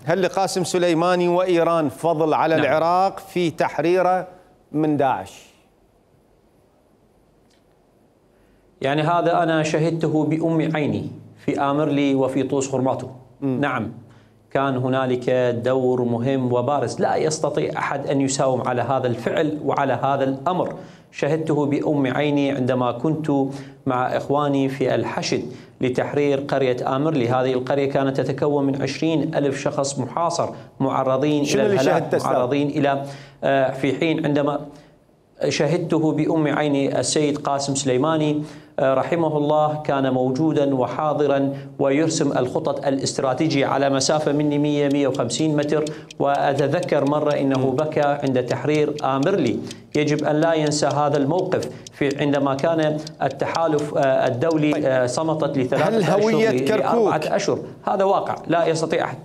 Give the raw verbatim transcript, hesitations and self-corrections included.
هل لقاسم سليماني وإيران فضل على نعم. العراق في تحريره من داعش؟ يعني هذا أنا شهدته بأم عيني في آمرلي وفي طوس خرماطو. م. نعم كان هنالك دور مهم وبارز، لا يستطيع أحد أن يساوم على هذا الفعل وعلى هذا الأمر. شهدته بأم عيني عندما كنت مع إخواني في الحشد لتحرير قرية آمرلي. هذه القرية كانت تتكون من عشرين ألف شخص محاصر معرضين إلى الهلاك، معرضين إلى في حين عندما شهدته بأم عيني السيد قاسم سليماني رحمه الله كان موجودا وحاضرا ويرسم الخطط الاستراتيجية على مسافة مني مئة مئة وخمسين متر. وأتذكر مرة إنه بكى عند تحرير آمرلي. يجب أن لا ينسى هذا الموقف في عندما كان التحالف الدولي صمتت لثلاثة أشهر لأربعة أشهر. هذا واقع لا يستطيع أحد